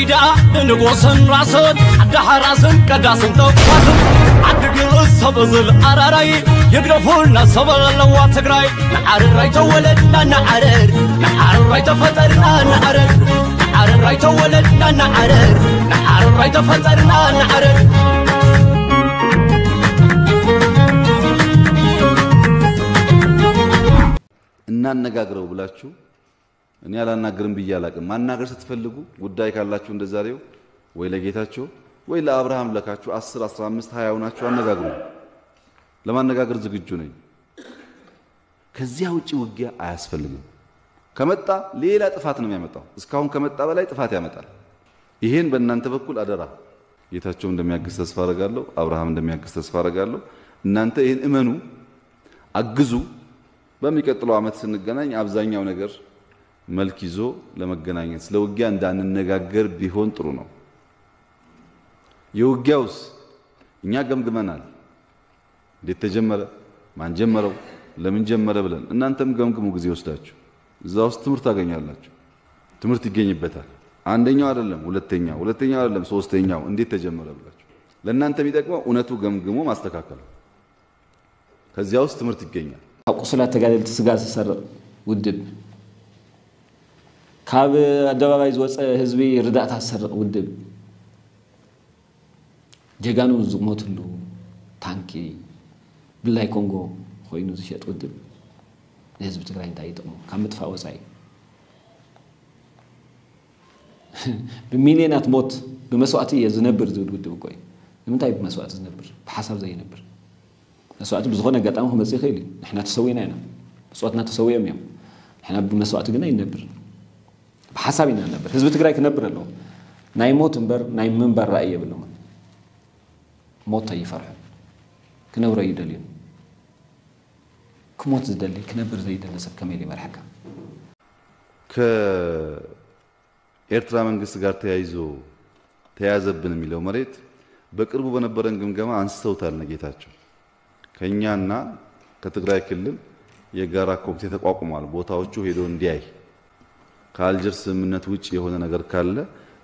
ደኣ ንንጉስን ራስን ዓዲ ሓራስን ቀዳስን ተኳስን ዓዲ ግርስ ሰብ እዝል ኣራራይ ይግደፉልና ሰብ ኣለዋ ትግራይ። ንዓርራይ ተወለድና ንዓረር፣ ንዓርራይ ተፈጠርና ንዓረር፣ ንዓርራይ ተወለድና ንዓረር፣ ንዓርራይ ተፈጠርና ንዓረር። እናነጋግረው ብላችሁ እኔ አላናግርም ብዬ አላቅም። ማናገር ስትፈልጉ ጉዳይ ካላችሁ እንደዛሬው ወይ ለጌታቸው ወይ ለአብርሃም ለካችሁ አስር አስራ አምስት ሃያ ሆናችሁ አነጋግሩ። ለማነጋገር ዝግጁ ነኝ። ከዚያ ውጪ ውጊያ አያስፈልግም። ከመጣ ሌላ ጥፋት ነው የሚያመጣው። እስካሁን ከመጣ በላይ ጥፋት ያመጣል። ይሄን በእናንተ በኩል አደራ። ጌታቸው እንደሚያግዝ ተስፋ አረጋለሁ። አብርሃም እንደሚያግዝ ተስፋ አረጋለሁ። እናንተ ይህን እመኑ፣ አግዙ። በሚቀጥለው ዓመት ስንገናኝ አብዛኛው ነገር መልክ ይዞ ለመገናኘት ስለ ውጊያ እንዳንነጋገር ቢሆን ጥሩ ነው። የውጊያውስ እኛ ገምግመናል። እንዴት ተጀመረ፣ ማን ጀመረው፣ ለምን ጀመረ ብለን እናንተም ገምግሙ ጊዜ ወስዳችሁ። እዛ ውስጥ ትምህርት ታገኛላችሁ። ትምህርት ይገኝበታል። አንደኛው አይደለም ሁለተኛው፣ ሁለተኛው አይደለም ሶስተኛው እንዴት ተጀመረ ብላችሁ። ለእናንተ የሚጠቅመው እውነቱ ገምግሞ ማስተካከል። ከዚያ ውስጥ ትምህርት ይገኛል። ካብ ቁሱላት ተጋደልቲ ስጋ ዝሰርቕ ውድብ፣ ካብ ኣደባባይ ዝወፀ ህዝቢ ርዳእታ ዝሰርቕ ውድብ፣ ጀጋኑ ዝሞትሉ ታንኪ ብላይ ኮንጎ ኮይኑ ዝሸጥ ውድብ ንህዝቢ ትግራይ እንታይ ይጠቕሞ? ካብ ምጥፋእ ወፃኢ ብሚልዮናት ሞት ብመስዋእቲ እየ ዝነብር ዝብል ውድብ እኮ እዩ። ንምንታይ ብመስዋእቲ ዝነብር? ብሓሳብ ዘይነብር። መስዋእቲ ብዝኾነ ኣጋጣሚ ክመፅእ ይኽእል እዩ። ንሕና ተሰዊና ኢና። ብፆትና ተሰዊኦም እዮም። ንሕና ብመስዋእቲ ግን ኣይንነብርን። ብሓሳብ ኢና ንነብር። ህዝቢ ትግራይ ክነብር ኣለዎ። ናይ ሞት እምበር ናይ ምንባር ራእይ የብሎምን። ሞት ኣይፈርሑን። ክነብሮ እዩ ደልዩን። ክሞት ዝደሊ ክነብር ዘይደሊ ሰብ ከመይ ኢሉ ይመርሐካ? ከኤርትራ መንግስት ጋር ተያይዞ ተያዘብን የሚለው መሬት በቅርቡ በነበረን ግምገማ አንስተውታል እነ ጌታቸው። ከኛና ከትግራይ ክልል የጋራ ኮሚቴ ተቋቁሟል። ቦታዎቹ ሄዶ እንዲያይ፣ ከአልጀርስ ስምምነት ውጭ የሆነ ነገር ካለ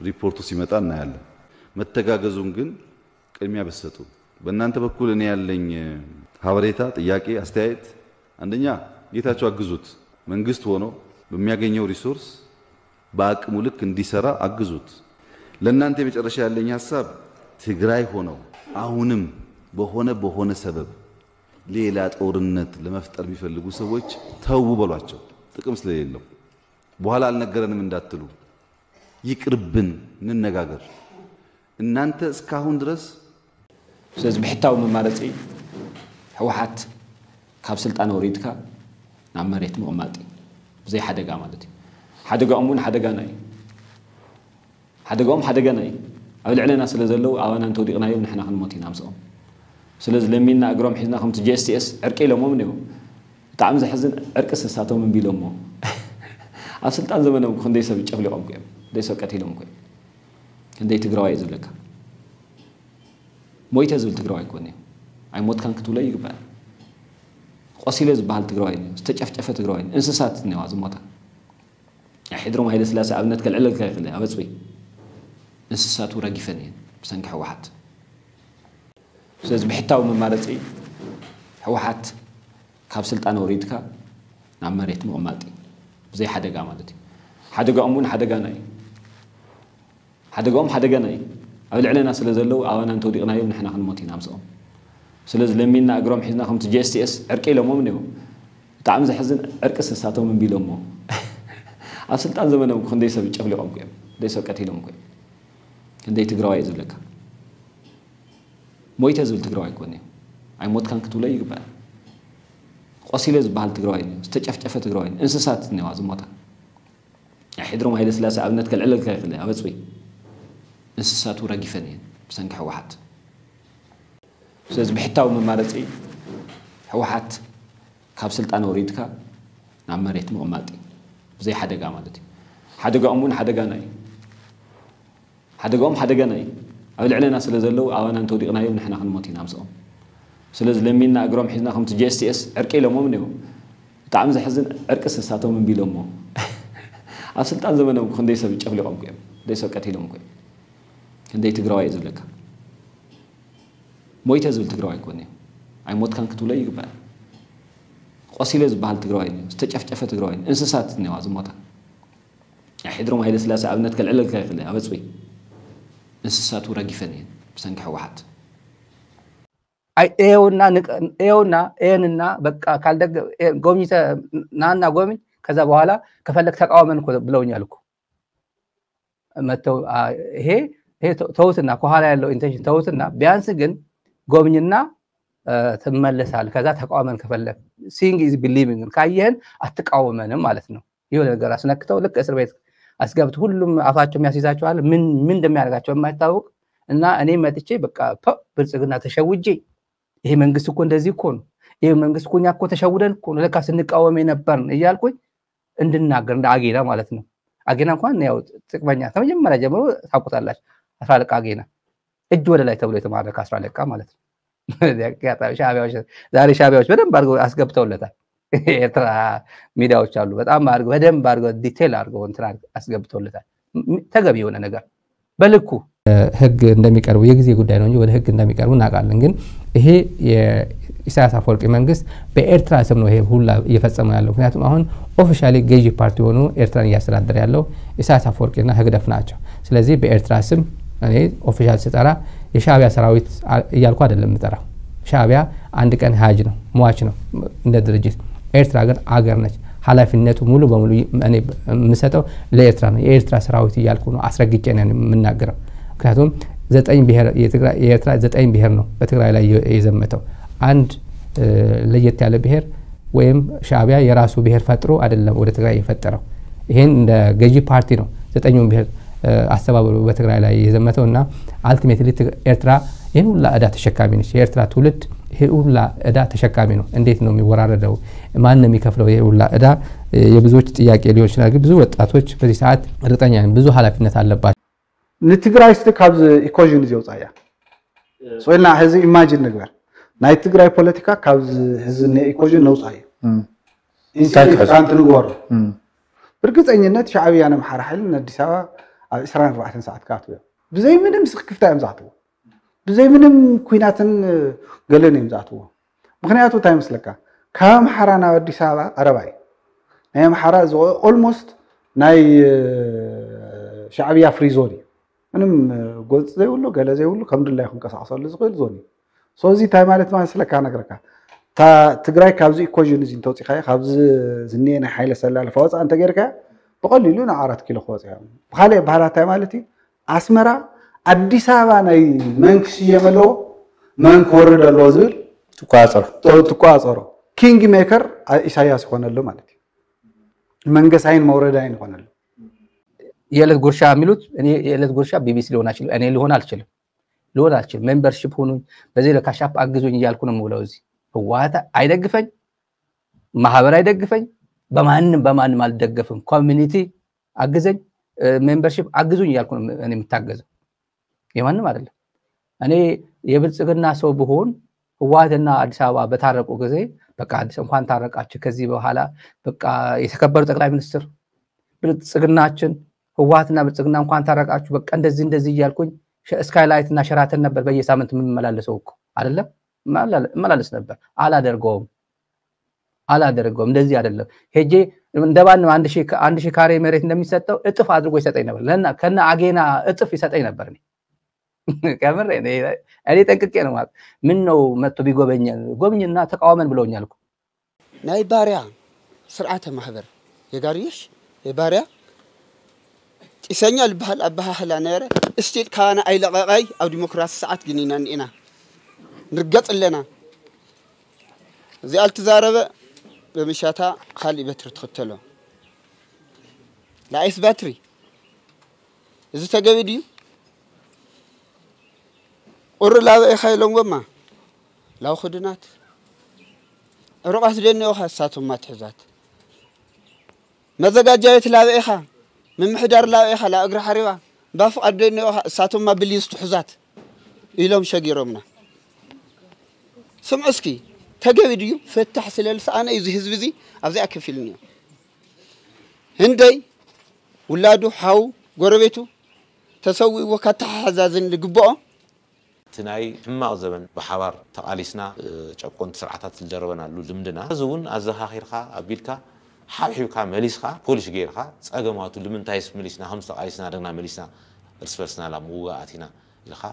ሪፖርቱ ሲመጣ እናያለን። መተጋገዙን ግን ቅድሚያ ብትሰጡ። በእናንተ በኩል እኔ ያለኝ ሀበሬታ፣ ጥያቄ፣ አስተያየት፣ አንደኛ ጌታቸው አግዙት። መንግስት ሆኖ በሚያገኘው ሪሶርስ በአቅሙ ልክ እንዲሰራ አግዙት። ለእናንተ የመጨረሻ ያለኝ ሀሳብ፣ ትግራይ ሆነው አሁንም በሆነ በሆነ ሰበብ ሌላ ጦርነት ለመፍጠር የሚፈልጉ ሰዎች ተው በሏቸው፣ ጥቅም ስለሌለው። በኋላ አልነገረንም እንዳትሉ፣ ይቅርብን፣ እንነጋገር። እናንተ እስካሁን ድረስ ስለዚ ብሕታዊ መማረፂ ህወሓት ካብ ስልጣን ወሪድካ ናብ መሬት ምቕማጥ እዩ። ብዘይ ሓደጋ ማለት እዩ። ሓደጋኦም እውን ሓደጋና እዩ። ሓደጋኦም ሓደጋና እዩ። ኣብ ልዕለና ስለ ዘለዉ ኣባና እንተወዲቕናዮም ንሕና ክንሞት ኢና ምስኦም። ስለዚ ለሚንና እግሮም ሒዝና ከምቲ ጂ ኤስ ቲ ኤስ ዕርቂ ኢሎሞም እኒኦ። ብጣዕሚ ዘሕዝን ዕርቂ ስሳቶም እምቢ ኢሎሞ። ኣብ ስልጣን ዘመኖም ክንደይ ሰብ ጨፍሊቖም እኮ እዮም። ክንደይ ሰብ ቀቲሎም እኮ እዮም። ክንደይ ትግራዋይ እዩ ዝብለካ። ሞይተ ዝብል ትግራዋይ እኮ እኒኦ። ኣይሞትካን ክትብሎ ይግባእ። ቆሲለ ዝበሃል ትግራዋይ እኒኦ። ዝተጨፍጨፈ ትግራዋይ እኒኦ። እንስሳት እኒዋ ዝሞታ። ናይ ሕድሮም ሃይለስላሴ ኣብነት ከልዕለልካ ይኽእል እየ። ኣብ ኣፅቢ እንስሳቱ ረጊፈን እየን ብሰንኪ ህወሓት። ስለዚ ብሕታዊ መማረፂ ህወሓት ካብ ስልጣን ወሪድካ ናብ መሬት ምቕማጥ እዩ። ብዘይ ሓደጋ ማለት እዩ። ሓደጋኦም እውን ሓደጋና እዩ። ሓደጋኦም ሓደጋና እዩ። ኣብ ልዕለና ስለ ዘለዉ ኣባና እንተወዲቕናዮም ንሕና ክንሞት ኢና ምስኦም። ስለዚ ለሚንና እግሮም ሒዝና ከምቲ ጂ ኤስ ቲ ኤስ ዕርቂ ኢሎሞም እኒኦ። ብጣዕሚ ዘሕዝን ዕርቂ ስሳቶም እምቢ ኢሎሞ። ኣብ ስልጣን ዘመኖም እኮ ክንደይ ሰብ ጨፍሊቖም እኮ እዮም። ክንደይ ሰብ ቀቲሎም እኮ እዮም። ክንደይ ትግራዋይ እዩ ዝብለካ። ሞይተ ዝብል ትግራዋይ እኮ እኒኦ። ኣይሞትካን ክትብሎ ይግባእ። ቆሲለ ዝበሃል ትግራዋይ እኒኦ። ዝተጨፍጨፈ ትግራዋይ እኒኦ። እንስሳት እኒዋ ዝሞታ። ናይ ሕድሮም ሃይለስላሴ ኣብነት ከልዕለልካ ይኽእል እየ። ኣብ ኣፅቢ እንስሳቱ ረጊፈን እየን ብሰንኪ ህወሓት። ስለዚ ብሕታዊ መማረፂ ህወሓት ካብ ስልጣን ወሪድካ ናብ መሬት ምቕማጥ እዩ። ብዘይ ሓደጋ ማለት እዩ። ሓደጋኦም እውን ሓደጋና እዩ። ሓደጋኦም ሓደጋና እዩ። ኣብ ልዕለና ስለ ዘለዉ ኣባና እንተወዲቕናዮም ንሕና ክንሞት ኢና ምስኦም። ስለዚ ለሚንና እግሮም ሒዝና ከምቲ ጂ ኤስ ቲ ኤስ ዕርቂ ኢሎሞም እኒኦ። ብጣዕሚ ዘሕዝን ዕርቂ ስሳቶም እምቢ ኢሎሞ። ኣብ ስልጣን ዘመኖም እኮ ክንደይ ሰብ ጨፍሊቖም እኮ እዮም። ክንደይ ሰብ ቀቲሎም እኮ እዮም። ክንደይ ትግራዋይ እዩ ዝብለካ? ሞይተ ዝብል ትግራዋይ እኮ እኒኦ። ኣይሞትካን ክትብሎ ይግባእ። ቆሲለ ዝበሃል ትግራዋይ እኒኦ። ዝተጨፍጨፈ ትግራዋይ እኒኦ። እንስሳት እኒዋ ዝሞታ። ናይ ሕድሮም ሃይለ ስላሴ ኣብነት ከልዕለልካ ይኽእል እየ። ኣብ ኣፅቢ እንስሳቱ ረጊፈን እየን ብሰንኪ ህወሓት። እየውና እየውና እየንና በቃ ካልደገ ጎብኝተ ናና ጎብኝ ከዛ በኋላ ከፈለግ ተቃወመን እኮ ብለውኛል እኮ መተው። ይሄ ተውትና ከኋላ ያለው ኢንቴንሽን ተውትና፣ ቢያንስ ግን ጎብኝና ትመለሳል። ከዛ ተቃወመን ከፈለግ ሲንግ ኢዝ ቢሊቪንግ ካየህን አትቃወመንም ማለት ነው። የሆነ ነገር አስነክተው ልክ እስር ቤት አስገብት ሁሉም አፋቸው የሚያስይዛቸዋል። ምን ምን እንደሚያደርጋቸው የማይታወቅ እና እኔ መጥቼ በቃ ብልጽግና ተሸውጄ ይሄ መንግስት እኮ እንደዚህ እኮ ነው፣ ይሄ መንግስት እኮ እኛ እኮ ተሸውደን እኮ ነው ለካ ስንቃወም የነበርን እያልኩኝ እንድናገር እንደ አጌና ማለት ነው። አጌና እንኳን ያው ጥቅመኛ ከመጀመሪያ ጀምሮ ታውቁታላችሁ። አስራ አለቃ አጌና እጅ ወደ ላይ ተብሎ የተማረከ አስራ አለቃ ማለት ነው። ሻቢያዎች ዛሬ ሻቢያዎች በደንብ አድርገው አስገብተውለታል። ኤርትራ ሚዲያዎች አሉ በጣም አድርገው በደንብ አድርገው ዲቴል አድርገው እንትን አስገብተውለታል። ተገቢ የሆነ ነገር በልኩ ህግ እንደሚቀርቡ የጊዜ ጉዳይ ነው እንጂ ወደ ህግ እንደሚቀርቡ እናውቃለን። ግን ይሄ የኢሳያስ አፈወርቂ መንግስት በኤርትራ ስም ነው ይሄ ሁላ እየፈጸመ ያለው። ምክንያቱም አሁን ኦፊሻሊ ገዢ ፓርቲ ሆኖ ኤርትራን እያስተዳደረ ያለው ኢሳያስ አፈወርቂና ህግደፍ ናቸው። ስለዚህ በኤርትራ ስም እኔ ኦፊሻል ስጠራ የሻቢያ ሰራዊት እያልኩ አይደለም የምጠራው። ሻቢያ አንድ ቀን ሀጅ ነው፣ ሟች ነው እንደ ድርጅት። ኤርትራ ግን አገር ነች። ኃላፊነቱ ሙሉ በሙሉ የምሰጠው ለኤርትራ ነው። የኤርትራ ሰራዊት እያልኩ ነው አስረግጬ ነው የምናገረው። ምክንያቱም ዘጠኝ ብሔር የኤርትራ ዘጠኝ ብሔር ነው በትግራይ ላይ የዘመተው። አንድ ለየት ያለ ብሔር ወይም ሻቢያ የራሱ ብሔር ፈጥሮ አይደለም ወደ ትግራይ የፈጠረው። ይሄን እንደ ገዢ ፓርቲ ነው ዘጠኙን ብሔር አስተባብሮ በትግራይ ላይ የዘመተው እና አልቲሜትሊ ኤርትራ ይህን ሁላ እዳ ተሸካሚ ነች። የኤርትራ ትውልድ ይህ ሁላ እዳ ተሸካሚ ነው። እንዴት ነው የሚወራረደው? ማን ነው የሚከፍለው? ይህ ሁላ እዳ የብዙዎች ጥያቄ ሊሆን ይችላል። ግን ብዙ ወጣቶች በዚህ ሰዓት እርግጠኛ ነኝ ብዙ ኃላፊነት አለባቸው። ንትግራይ እስቲ ካብዚ ኢኮዥን እዚ የውፃያ ስኢልና ሕዚ ኢማጂን ንግበር። ናይ ትግራይ ፖለቲካ ካብዚ ሕዚ ነ ኢኮዥን ነውፃ እዩ። ኢንሲግኒፊካንት ንግበሮ። ብርግፀኝነት ሻዕብያ ነምሓራ ሓይሊ ንኣዲስ ኣበባ ኣብ ዕስራን ኣርባዕተን ሰዓት ክኣትዉ እዮም። ብዘይ ምንም ስክፍታ እዮም ዝኣትዉ። ብዘይ ምንም ኩናትን ገለን እዮም ዝኣትዎ። ምክንያቱ እንታይ ይመስለካ? ካብ ኣምሓራ ናብ ኣዲስ ኣበባ ቀረባ እዩ። ናይ ኣምሓራ እዚ ኦልሞስት ናይ ሻዕብያ ፍሪ ዞን እዩ። ምንም ጎንፂ ዘይብሉ ገለ ዘይብሉ ከም ድላዩ ክንቀሳቀሰሉ ዝኽእል ዞን እዩ። ሶ እዚ እንታይ ማለት ማለት ስለካ ነግረካ እታ ትግራይ ካብዚ ኢኮዥን እዚ እንተውፂኻዮ ካብዚ ዝኒኤ ናይ ሓይለ ሰላልፋ ወፃ እንተገይርካ ብቀሊሉ ናብ ኣራት ኪሎ ክወፅያ ብካሊእ ባህላ እንታይ ማለት እዩ ኣስመራ ኣዲስ ኣበባ ናይ መን ክስየም ኣለዎ መን ክወርድ ኣለዎ ዝብል ትቆፃፀሮ ትቆፃፀሮ ኪንግ ሜከር ኢሳያስ ይኮነሉ ማለት እዩ መንገሳይን መውረዳይን ይኮነሉ የዕለት ጉርሻ የሚሉት እኔ የዕለት ጉርሻ ቢቢሲ ሊሆን አይችልም እኔ ሊሆን አልችልም ሊሆን አልችልም ሜምበርሺፕ ሁኑኝ በዚህ ለካሻፕ አግዙኝ እያልኩ ነው የምውለው እዚህ ህወሓት አይደግፈኝ ማህበር አይደግፈኝ በማንም በማንም አልደገፍም ኮሚኒቲ አግዘኝ ሜምበርሺፕ አግዙኝ እያልኩ ነው እኔ የምታገዘው የማንም አይደለም እኔ የብልጽግና ሰው ብሆን ህወሓትና አዲስ አበባ በታረቁ ጊዜ በቃ አዲስ እንኳን ታረቃችሁ ከዚህ በኋላ በቃ የተከበሩ ጠቅላይ ሚኒስትር ብልጽግናችን ህወሓትና ብልጽግና እንኳን ታረቃችሁ በቃ እንደዚህ እንደዚህ እያልኩኝ ስካይላይት እና ሸራተን ነበር በየሳምንት የምመላለሰው እኮ አይደለም እመላለስ ነበር አላደርገውም አላደርገውም እንደዚህ አይደለም ሄጄ እንደባንም አንድ ሺህ ካሬ መሬት እንደሚሰጠው እጥፍ አድርጎ ይሰጠኝ ነበር ከነ አጌና እጥፍ ይሰጠኝ ነበር ከምር እኔ ጠንቅቄ ነው ማለት ምን ነው መጥቶ ቢጎበኘን ጎብኝና ተቃወመን ብለውኛል ናይ ባርያ ስርዓተ ማህበር የጋርዮሽ የባርያ ጢሰኛ ዝበሃል ኣበሃህላ ነረ እስቲል ካባና ኣይለቐቐይ ኣብ ዲሞክራሲ ሰዓት ግን ኢና ንኢና ንርገጽ ኣለና እዚኣ ልትዛረበ በምሻታ ካልእ በትሪ ትኽተሎ ላይስ ባትሪ እዚ ተገቢ ድዩ ቁሪ ላበ ኢኻ ኢሎምዎማ ላው ክድናት ርቋት ደኒኦኻ እሳቶማ ትሕዛት መዘጋጃ ቤት ላበ ኢኻ ምምሕዳር ላበ ኢኻ ላብ እግሪ ሓሪባ ባፍቓድ ደኒኦኻ እሳቶማ ብሊዝ ትሕዛት ኢሎም ሸጊሮምና ስምዑ እስኪ ተገቢ ድዩ ፍታሕ ስለ ዝሰኣነ እዩ እዚ ህዝቢ እዚ ኣብዚኣ ከፊሉኒ እዩ ህንደይ ውላዱ ሓው ጎረቤቱ ተሰዊእዎ ከተሓዛዝን ዝግብኦ። እቲ ናይ ሕማቕ ዘበን ብሓባር ተቓሊስና ጨቆንቲ ስርዓታት ዝደረበናሉ ልምድና እዚ እውን ኣዘኻኺርካ ኣቢልካ ሓብሒብካ መሊስካ ፖሊሽ ገይርካ ጸገማቱ ልምንታይስ መሊስና ከምዚ ተቓሊስና ደግና መሊስና እርስ በርስና ላብ ምውጋኣት ኢና ኢልካ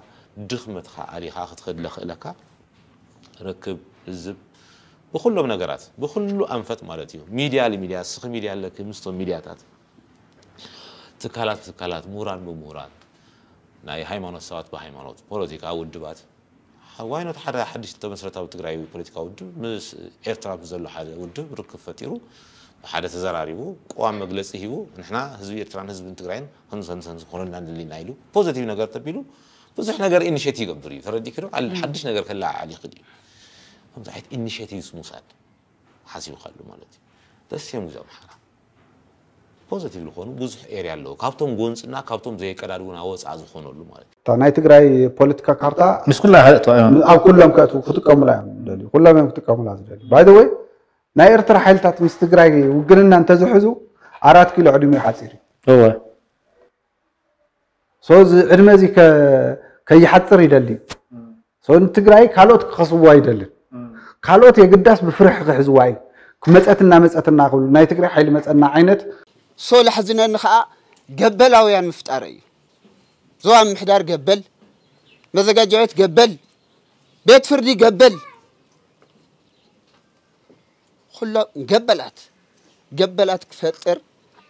ድኽመትካ ኣሊኻ ክትኸድ ለኽእለካ ርክብ ህዝብ ብኩሎም ነገራት ብኩሉ ኣንፈት ማለት እዩ ሚድያ ልሚድያ ስኺ ሚድያ ኣለኪ ምስቶም ሚድያታት ትካላት ትካላት ምሁራን ብምሁራን ናይ ሃይማኖት ሰባት ብሃይማኖት ፖለቲካ ውድባት ዋይኖት ሓደ ሓድሽ ዝተመስረተ ኣብ ትግራይ ፖለቲካ ውድብ ምስ ኤርትራ ምስ ዘሎ ሓደ ውድብ ርክብ ፈጢሩ ሓደ ተዘራሪቡ ቅዋም መግለፂ ሂቡ ንሕና ህዝቢ ኤርትራን ህዝብን ትግራይን ከምዚ ከምዚ ከምዚ ክኾነልና ንደሊና ኢሉ ፖዘቲቭ ነገር ተቢሉ ብዙሕ ነገር ኢኒሼት ይገብር እዩ ተረዲእኪ ዶ ሓድሽ ነገር ከለዓዕል ይኽእል እዩ ከምዚ ዓይነት ኢኒሼቲቭስ ምውሳድ ሓሲብካሉ ማለት እዩ ደስ እዮም ግዜ ኣምሓራ ፖዘቲቭ ዝኾኑ ብዙሕ ኤርያ ኣለዉ ካብቶም ጎንፅና ካብቶም ዘየቀዳድውና ወፃ ዝኾነሉ ማለት እዩ እታ ናይ ትግራይ ፖለቲካ ካርታ ምስ ኩላ ኣብ ኩሎም ከእትዉ ክጥቀሙላ እዮም ዝደልዩ ኩሎም እዮም ክጥቀሙላ ዝደልዩ ባይ ወይ ናይ ኤርትራ ሓይልታት ምስ ትግራይ ውግንና እንተዝሕዙ ኣራት ኪሎ ዕድሚኡ ሓፂር እዩ እወ So እዚ ዕድመ እዚ ከይሓፅር ይደሊ እዩ። So ንትግራይ ካልኦት ክኸስብዋ ኣይደልን። ካልኦት የግዳስ ብፍርሒ ክሕዝዋ እዩ። ክመፀትና መፀትና ክብሉ ናይ ትግራይ ሓይሊ መፀና ዓይነት። So ለሕዝነኒ ከዓ ገበላውያን ምፍጣር እዩ። ዞባ ምምሕዳር ገበል፣ መዘጋጃ ቤት ገበል፣ ቤት ፍርዲ ገበል። ኩሎም ገበላት ገበላት ክፈጥር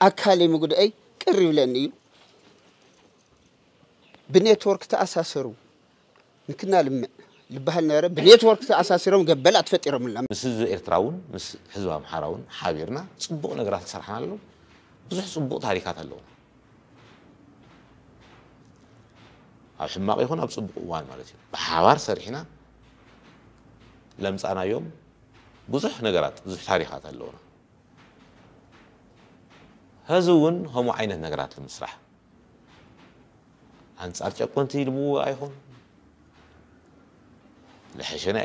ኣካለይ ምጉድኣይ ቅር ይብለኒ እዩ። ብኔትወርክ ተኣሳሰሩ ንክና ልምዕ ልበሃል ነበረ። ብኔትወርክ ተኣሳሲሮም ገበላት ፈጢሮምልና። ምስ ህዝቢ ኤርትራ እውን ምስ ህዝቢ ኣምሓራ እውን ሓቢርና ፅቡቕ ነገራት ዝሰራሕና ኣሎ። ብዙሕ ፅቡቕ ታሪካት ኣለዉ። ኣብ ሕማቕ ይኹን ኣብ ፅቡቕ እዋን ማለት እዩ ብሓባር ሰሪሕና ለምፃናዮም ብዙሕ ነገራት ብዙሕ ታሪኻት ኣለውና ሀዚ እውን ከምኡ ዓይነት ነገራት ንምስራሕ ኣንፃር ጨቆንቲ ንምውጋእ ይኹን ለሐሸ ናይ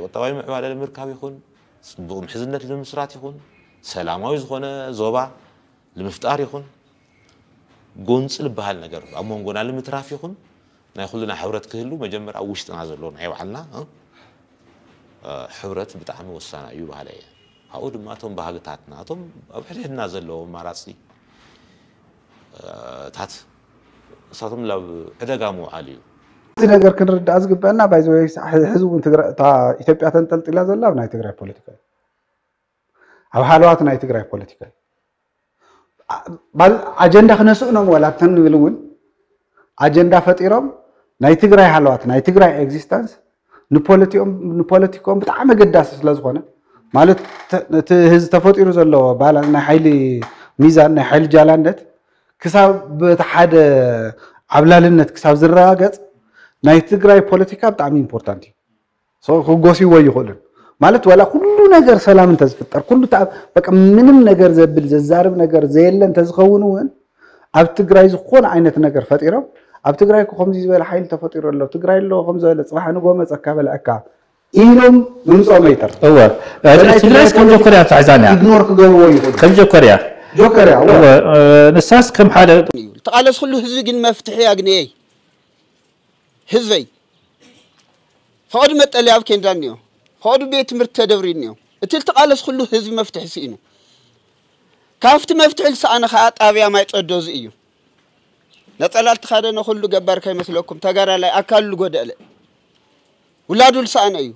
ቁጠባዊ ምዕባለ ንምርካብ ይኹን ፅቡቕ ምሕዝነት ንምስራት ይኹን ሰላማዊ ዝኾነ ዞባ ንምፍጣር ይኹን ጎንፂ ዝበሃል ነገር ኣብ መንጎና ንምትራፍ ይኹን ናይ ኩልና ሕብረት ክህሉ መጀመርያ ኣብ ውሽጥና ዘሎ ናይ ባዕልና ሕብረት ብጣዕሚ ወሳና እዩ በሃለ እየ። ካብኡ ድማ እቶም ባህግታትና እቶም ኣብ ሕድሕድና ዘለዉ ኣማራፂ ታት እሳቶም ላብ ዕደጋ ምውዓል እዩ። እቲ ነገር ክንርዳእ ዝግበአና ባይዘወይ ሕዚ እውን ኢትዮጵያ ተንጠልጢላ ዘላ ኣብ ናይ ትግራይ ፖለቲካ እዩ። ኣብ ሃለዋት ናይ ትግራይ ፖለቲካ እዩ። ኣጀንዳ ክነስእኖም ዋላ ተንብል እውን ኣጀንዳ ፈጢሮም ናይ ትግራይ ሃለዋት ናይ ትግራይ ኤግዚስተንስ ንፖለቲኮም ብጣዕሚ ኣገዳሲ ስለዝኾነ ማለት እቲ ህዚ ተፈጢሩ ዘሎ ባላንስ ናይ ሓይሊ ሚዛን ናይ ሓይሊ ጃላነት ክሳብ በቲ ሓደ ዓብላልነት ክሳብ ዝረጋገፅ ናይ ትግራይ ፖለቲካ ብጣዕሚ ኢምፖርታንት እዩ። ክጎስይዎ ኣይኽእሉን ማለት ዋላ ኩሉ ነገር ሰላም እንተዝፍጠር ኩሉ በቃ ምንም ነገር ዘብል ዘዛርብ ነገር ዘየለ እንተዝኸውን እውን ኣብ ትግራይ ዝኾነ ዓይነት ነገር ፈጢሮም ኣብ ትግራይ እኮ ከምዚ ዝበለ ሓይሊ ተፈጢሩ ኣሎ ትግራይ ኣሎ ከም ዝበለ ፅባሕ ንጎ መፀካ በልዐካ ኢሎም ምምፅኦም ኣይተርፍ እወ ትግራይስ ከም ጆኮርያ ትሕዛን እያ ኢግኖር ክገብርዎ ይኽእሉ ከም ጆኮርያ ጆከርያ እወ ንሳስ ከም ሓደ ተቓለስ ኩሉ ህዝቢ ግን መፍትሒ ኣግንየይ ህዝበይ ፈቐዱ መጠለያ ኣብ ኬንዳ እኒኦ፣ ፈቐዱ ቤት ትምህርቲ ተደብርዩ እኒኦ። እቲ ልትቓለስ ኩሉ ህዝቢ መፍትሒ ስኢኑ። ካብቲ መፍትሒ ልሰኣነ ኸዓ ጣብያ ማይ ጸዶ እዚ እዩ። ነጸላ ልትኻደነ ኩሉ ገባር ከይመስለኩም ተጋዳላይ ኣካሉ ልጎደለ ውላዱ ልሰኣነ እዩ።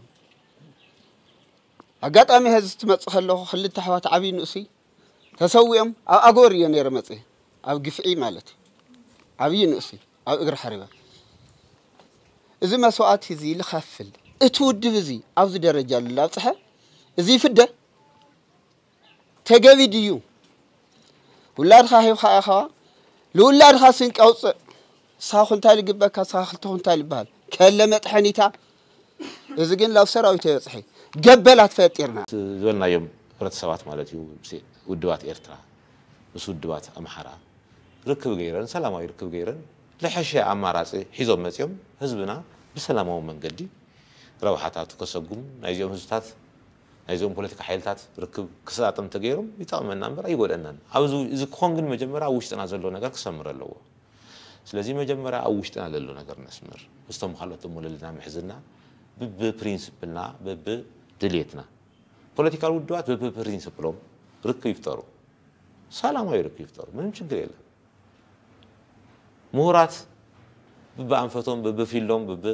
ኣጋጣሚ ሀዚ ትመጽእ ከለኹ ክልተ ኣሕዋት ዓብዪ ንእሱይ ተሰዊኦም ኣብ ኣጎር እየ ነይረ መፅየ ኣብ ግፍዒ ማለት እዩ ዓብዪ ንእሱይ ኣብ እግሪ ሓሪበ እዚ መስዋእቲ እዚ ልኸፍል እቲ ውድብ እዚ ኣብዚ ደረጃ ልላብፅሐ እዚ ይፍደ ተገቢ ድዩ ውላድኻ ሂብካ ኢኻ ልውላድኻ ስንቂ ኣውፅእ ሳኹ እንታይ ልግበካ ሳኻ ክልተ ኩንታል ይበሃል ከለ መጥሐኒታ እዚ ግን ላብ ሰራዊት የበፅሐ ገበላት ፈጢርና ዝበልናዮም ህብረተሰባት ማለት እዩ ውድባት ኤርትራ ምስ ውድባት ኣምሓራ ርክብ ገይረን ሰላማዊ ርክብ ገይረን ዝሐሸ ኣማራፂ ሒዞም መፂኦም ህዝብና ብሰላማዊ መንገዲ ረብሓታቱ ከሰጉም ናይዚኦም ህዝብታት ናይዚኦም ፖለቲካ ሓይልታት ርክብ ክሰጣጠም ተገይሮም ይጠቕመና እምበር ኣይጎደናን ኣብዚ እዚ ክኾን ግን መጀመርያ ኣብ ውሽጥና ዘሎ ነገር ክሰምር ኣለዎ ስለዚ መጀመርያ ኣብ ውሽጥና ለሎ ነገር ነስምር፣ ምስቶም ካልኦት እሞ ለለና ምሕዝና ብብፕሪንስፕልና ብብድልየትና። ፖለቲካል ውድባት ብብፕሪንስፕሎም ርክብ ይፍጠሩ፣ ሰላማዊ ርክብ ይፍጠሩ፣ ምንም ችግር የለን። ምሁራት ብብኣንፈቶም ብብፊልዶም ብብ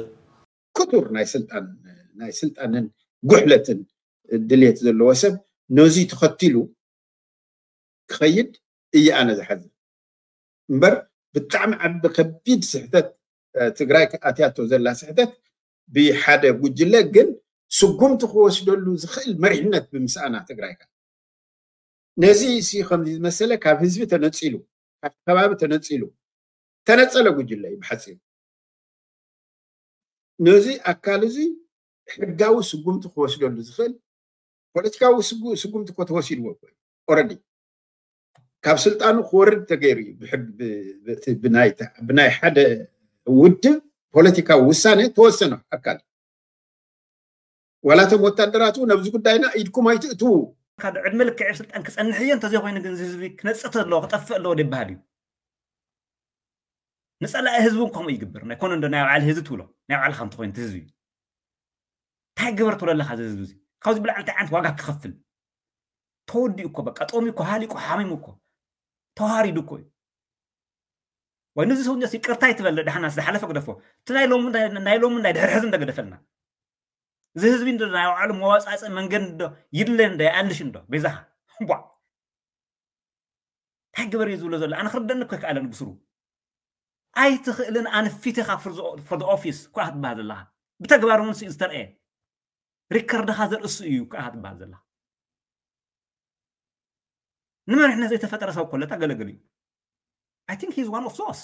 ክቱር ናይ ስልጣን ናይ ስልጣንን ጉሕለትን ድልየት ዘለዎ ሰብ ነዚ ተኸቲሉ ክኸይድ እየ ኣነ ዝሓዝን። እምበር ብጣዕሚ ዓቢ ከቢድ ስሕተት ትግራይ ኣትያቶ ዘላ ስሕተት ብሓደ ጉጅለ ግን ስጉምቲ ክወስደሉ ዝኽእል መሪሕነት ብምስኣና ትግራይ ነዚ ሲ ከምዚ ዝመሰለ ካብ ህዝቢ ተነፂሉ ካብ ከባቢ ተነፂሉ ተነፀለ ጉጅለ እዩ ብሓፂሩ። ነዚ ኣካል እዚ ሕጋዊ ስጉምቲ ክወስደሉ ዝኽእል ፖለቲካዊ ስጉምቲ እኮ ተወሲድዎ እኮ ኦረዲ ካብ ስልጣኑ ክወርድ ተገይሩ እዩ። ብናይ ሓደ ውድብ ፖለቲካዊ ውሳነ ተወሰነ ኣካል ዋላ እቶም ወታደራት እውን ኣብዚ ጉዳይና ኢድኩም ኣይትእትዉ። ካብ ዕድመ ልክዕ ስልጣን ክፀንሕ እየ እንተዘይኮይኑ ግን ህዝቢ ክነፅእ ኣለዎ ክጠፍእ ኣለዎ ይበሃል እዩ። ንፀላኢ ህዝቢ እውን ከምኡ ይግበር ናይ ኮነ እንዶ ናይ ባዕል ህዝቢ ትብሎ ናይ ባዕልካ እንተኮይኑ ህዝቢ እንታይ ግበር ትብሎ ኣለካ እዚ ህዝቢ እዚ ካብዚ ብላዕሊ እንታይ ዓይነት ዋጋ ክኸፍል ተወዲኡ እኮ በቃ ጦሚ እኮ ሃሊቁ ሓሚሙ እኮ ተዋሪዱ እኮ እዩ። ወይ ነዚ ሰው እንዲያስ ይቅርታ ይትበል ደሓና ዝሓለፈ ግደፎ እቲ ናይ ሎሚ ናይ ሎሚ ናይ ድሕር ሕዚ እንደገደፈልና እዚ ህዝቢ እንዶ ናይ ባዕሉ መዋፃፀ መንገድ እንዶ ይድለ እንዶ ይኣልሽ እንዶ ቤዛኻ ቧ እንታይ ግበር እዩ ዝብሎ ዘሎ ኣነ ክርደኒ እኮ ይከኣለን ብስሩ ኣይትኽእልን ኣንፊትኻ for the office እኳ ክትበሃል ዘለኻ ብተግባር እውን ዝተርአየ ሪከርድኻ ዘርእሱ እዩ ከዓ ትበሃል ዘለኻ ንመሪሕነት ዘይተፈጠረ ሰብ ኮለታ ገለገል እዩ I think he's one of those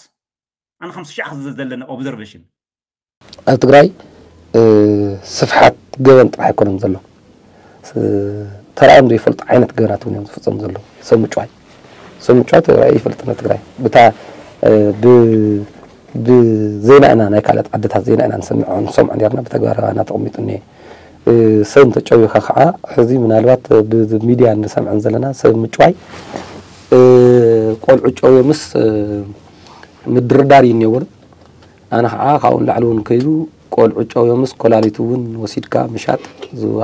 ኣነ ከም ስሻዕ ዘለና observation ኣብ ትግራይ ስፍሓት ገበን ጥራሕ ኣይኮነን ዘሎ ተራእዮም ዘይፈልጡ ዓይነት ገበናት እውን እዮም ዝፍፀሙ ዘለዉ ሰብ ምጭዋይ ሰብ ምጭዋይ ተራእዩ ይፈልጥ ነ ትግራይ ብታ ብዜና ኢና ናይ ካልኦት ዓድታት ዜና ኢና ንሰምዖ ንሰምዖ ነርና ብተግባር ኣባና ተቐሚጡ እኒአ ሰብ እንተጨዊኻ ከዓ ሕዚ ምናልባት ብሚድያ እንሰምዐን ዘለና ሰብ ምጭዋይ ቆልዑ ጨውዮምስ ምድርዳር እዩ እኒኦ በሉ ኣነ ከዓ ካብኡ ንላዕሊ እውን ከይዱ ቆልዑ ጨውዮምስ ኮላሊት እውን ወሲድካ ምሻጥ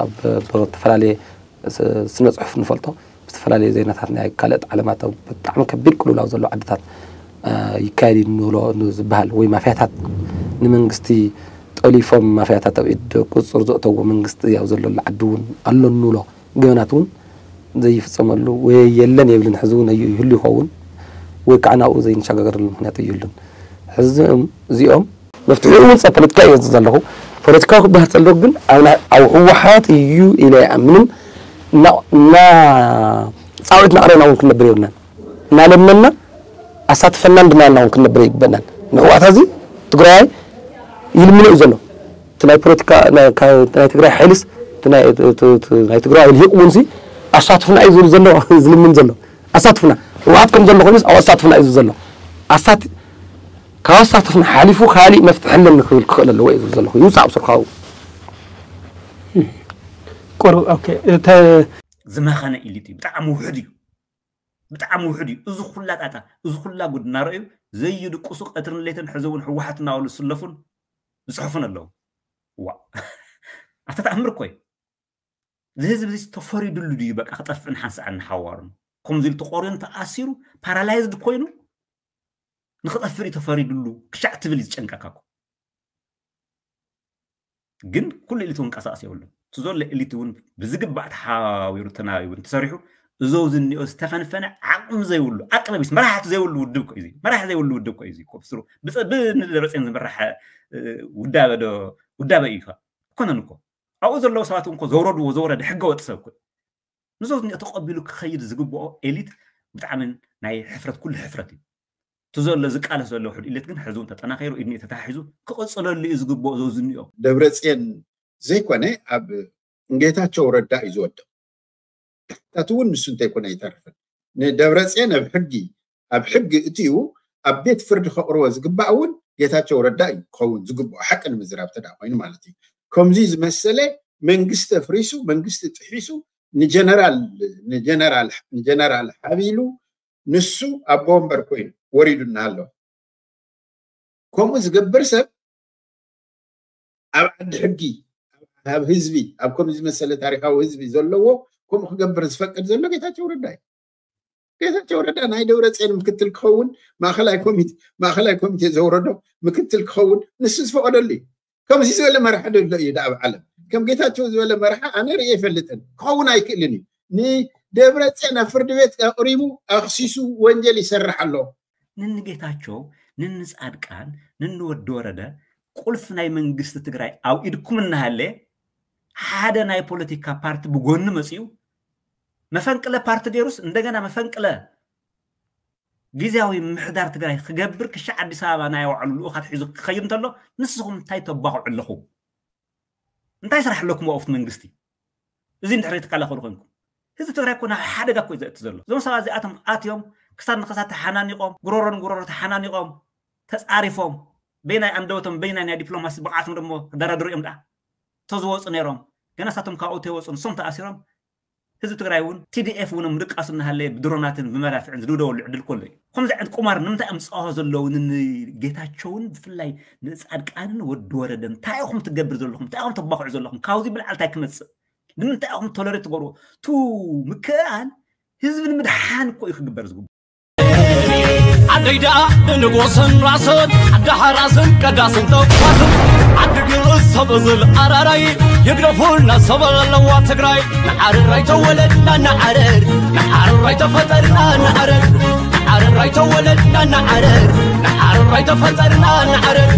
ኣብ ዝተፈላለየ ስነ ፅሑፍ ንፈልጦ ብዝተፈላለየ ዜናታት ናይ ካልኦት ዓለማት ብጣዕሚ ከቢድ ቅልውላው ዘሎ ዓድታት ይካየድ እዩ ንብሎ ዝበሃል ወይ ማፍያታት ንመንግስቲ ጠሊፎም ማፍያታት ኣብ ኢድ ቁፅፅር ዘእተዎ መንግስቲ ኣብ ዘለሉ ዓዲ እውን ኣሎ ንብሎ ገበናት እውን ዘይፍፀመሉ ወይ የለን የብልን ሕዚ እውን እዩ ይህሉ ይኸውን ወይ ከዓ ናብኡ ዘይንሸጋገረሉ ምክንያት ይህሉን ሕዚ እዚኦም መፍትሒኡ እውን ጸ ፖለቲካ እየ ዘለኹ ፖለቲካዊ ክበሃል ጸሎ ግን ኣብ ህወሓት እዩ ኢለ ይኣምንን እና ፃውዒት ናቕረብና እውን ክንነብር የብልናን እናለመና ኣሳትፈናን ድማ ና እውን ክንነብር ይግበናን ንህወሓት እዚ ትግራዋይ ይልምኖ እዩ ዘሎ እቲ ናይ ፖለቲካ ናይ ትግራይ ሓይልስ ናይ ትግራዋይ ልሂቅ እውን ኣሳትፍና እዩ ዝብል ዘሎ ዝልምን ዘሎ ኣሳትፍና ህወሓት ከም ዘሎ ኮይኑስ ኣብ ኣሳትፍና እዩ ዘሎ ኣሳት ካብ ኣሳትፍና ሓሊፉ ካሊእ መፍትሒ ኣለኒ ክብል ክኽእል ኣለዎ እዩ ዝብል ዘለኹ ይውፃእ ብስርካዊ ቆርብ ኦኬ እተ ዝመኸነ ኢሊት እዩ ብጣዕሚ ውሕድ እዩ ብጣዕሚ ውሕድ እዩ እዚ ኩላ ጣጣ እዚ ኩላ ጉድ እናረእዩ ዘይድቅሱ ቀትርን ሌትን ሕዚ እውን ህወሓት እናበሉ ዝስለፉን ዝፅሕፉን ኣለዉ ዋ ኣታ ተኣምር እኮ እዩ እዚ ህዝቢ እዚ ተፈሪዱሉ ድዩ በቃ ክጠፍእን ሓንሳእን ንሓዋሩን ከምዚ ኢሉ ተቆርዮን ተኣሲሩ ፓራላይዝድ ኮይኑ ንክጠፍእ እዩ ተፈሪዱሉ ክሻዕ ትብል እዩ ዝጨንቀካ እኮ ግን ኩሉ ኤሊት እውን ቀሳቀስ የብሉን እቲ ዘሎ ኤሊት እውን ብዝግባእ ተሓዋዊሩ ተናቢቡ እንተሰሪሑ እዞ ዝኒኦ ዝተፈንፈነ ዓቅሚ ዘይብሉ ኣቅረቢስ መራሕቲ ዘይብሉ ውድብ እኮ እዩ መራሕ ዘይብሉ ውድብ እኮ እዩ ብስሩ ብደብረፅዮን ዝመራሕ ውዳበ ዶ ውዳበ እዩ ኣይኮነን እኮ ኣብኡ ዘለዉ ሰባት እውን እኮ ዘውረድዎ ዘውረደ ሕገ ወጥ ሰብ እኮ እዩ ንዞ ዝኒኦ ተቐቢሉ ክኸይድ ዝግብኦ ኤሊት ብጣዕሚ ናይ ሕፍረት ኩሉ ሕፍረት እዩ እቲ ዘሎ ዝቃለስ ዘሎ ውሕድ ኢለት ግን ሕዚ እውን ተጠናኺሩ ኢድኒ ተታሒዙ ክቕፅለሉ እዩ ዝግብኦ ዘው ዝኒኦ ደብረፅየን ዘይኮነ ኣብ ጌታቸው ረዳ እዩ ዝወድቕ ታቲ እውን ንሱ እንተይኮነ ኣይተርፍን ንደብረፅየን ኣብ ሕጊ ኣብ ሕጊ እትዩ ኣብ ቤት ፍርዲ ከቕርቦ ዝግባእ እውን ጌታቸው ረዳ እዩ ክኸውን ዝግብኦ ሓቂ ንምዝራብ ተዳ ኮይኑ ማለት እዩ ከምዚ ዝመሰለ መንግስቲ ኣፍሪሱ መንግስቲ ጥሒሱ ንጀነራል ንጀነራል ንጀነራል ሓቢሉ ንሱ ኣቦ ወንበር ኮይኑ ወሪዱ እናሃለወ ከምኡ ዝገብር ሰብ ኣብ ዓዲ ሕጊ፣ ኣብ ህዝቢ፣ ኣብ ከምዚ ዝመሰለ ታሪኻዊ ህዝቢ ዘለዎ ከምኡ ክገብር ዝፈቅድ ዘሎ ጌታቸው ረዳ እዩ። ጌታቸው ረዳ ናይ ደብረፅዮን ምክትል ክኸውን ማእኸላይ ኮሚቴ ማእኸላይ ኮሚቴ ዘውረዶ ምክትል ክኸውን ንሱ ዝፈቐደሉ እዩ። ከምዚ ዝበለ መራሒ ዶ ኣሎ እዩ ኣብ ዓለም? ከም ጌታቸው ዝበለ መራሒ ኣነ ርእየ ኣይፈልጥን። ክኸውን ኣይክእልን እዩ። ንደብረፅዮን ኣብ ፍርዲ ቤት ኣቕሪቡ ኣኽሲሱ ወንጀል ይሰርሕ ኣሎ። ንንጌታቸው፣ ንንፃድቃን፣ ንንወዲ ወረደ ቁልፍ ናይ መንግስቲ ትግራይ ኣብ ኢድኩም እናሃለ ሓደ ናይ ፖለቲካ ፓርቲ ብጎኒ መፂኡ መፈንቅለ ፓርቲ ገይሩስ እንደገና መፈንቅለ ግዜያዊ ምሕዳር ትግራይ ክገብር ክሻዕ ኣዲስ ኣበባ ናይ ባዕሉ ልኡኻት ሒዙ ክኸይድ እንተሎ ንስኹም እንታይ ተባኽዑ ኣለኹ? እንታይ ስራሕ ኣለኩም ኣብቲ መንግስቲ? እዚ እንድሕር ትከላኸሉ ኮንኩም ህዝቢ ትግራይ እኮ ናብ ሓደጋ እኮ እዩ ዘእቲ ዘሎ። እዞም ሰባት እዚኣቶም ኣትዮም ክሳድ ንክሳድ ተሓናኒቖም፣ ጉሮሮ ንጉሮሮ ተሓናኒቖም፣ ተፃሪፎም፣ በይናይ ኣንደበቶም በይናይ ናይ ዲፕሎማሲ ብቕዓቶም ደሞ ክደራደሩ እዮም ደኣ ተዝወፁ ነይሮም። ገና ሳቶም ካብኡ ተይወፁ ንሶም ተኣሲሮም ህዝቢ ትግራይ እውን ቲዲኤፍ እውን ምድቃሱ እናሃለየ ብድሮናትን ብመዳፍዕን ዝድብደበሉ ዕድል ከሎ እዩ። ከምዚ ዓይነት ቁማር ንምንታይ እዮም ዝፃወቱ ዘለዉ? ንጌታቸውን ብፍላይ ንፃድቃንን ወዲ ወረደን እንታይ ኢኹም ትገብር ዘለኹም? እንታይ ኢኹም ተባኽዑ ዘለኹም? ካብዚ ብልዓል እንታይ ክመፅእ? ንምንታይ ኢኹም ቶለሬት ትገብርዎ? ቱ ምክእኣል ህዝቢ ንምድሓን እኮ እዩ ክግበር ዝግብኦ። ዓደይ ደኣ ንንጎሰን ራሰን ዓዲ ሓራስን ቀዳስን ተኳስን ዓዲ ግእዝ ሰብ እዝል ኣራራይ ይግደፉልና ሰብ ኣለዋ ትግራይ። ንዓርር ኣይተወለድና ንዓርር ንዓርር ኣይተፈጠርና ንዓርር ንዓርር ኣይተወለድና ንዓርር ንዓርር ኣይተፈጠርና ንዓርር